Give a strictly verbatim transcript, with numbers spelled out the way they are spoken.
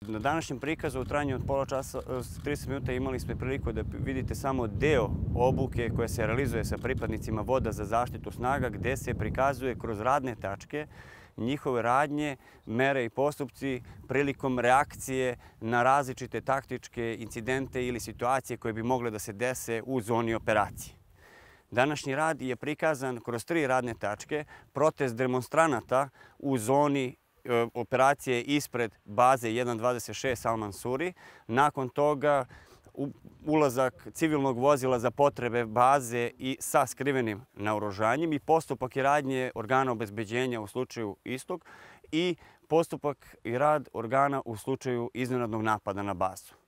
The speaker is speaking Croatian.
Na današnjem prikazu u trajanju od pola časa, trideset minuta imali smo priliku da vidite samo deo obuke koja se realizuje sa pripadnicima voda za zaštitu snaga, gde se prikazuje kroz radne tačke njihove radnje, mere i postupci prilikom reakcije na različite taktičke incidente ili situacije koje bi mogle da se dese u zoni operacije. Današnji rad je prikazan kroz tri radne tačke, protest demonstranata u zoni operacije ispred baze jedan dvadeset šest Salman Suri. Nakon toga ulazak civilnog vozila za potrebe baze i sa skrivenim naoružanjem i postupak i radnje organa obezbeđenja u slučaju istog i postupak i rad organa u slučaju iznenadnog napada na bazu.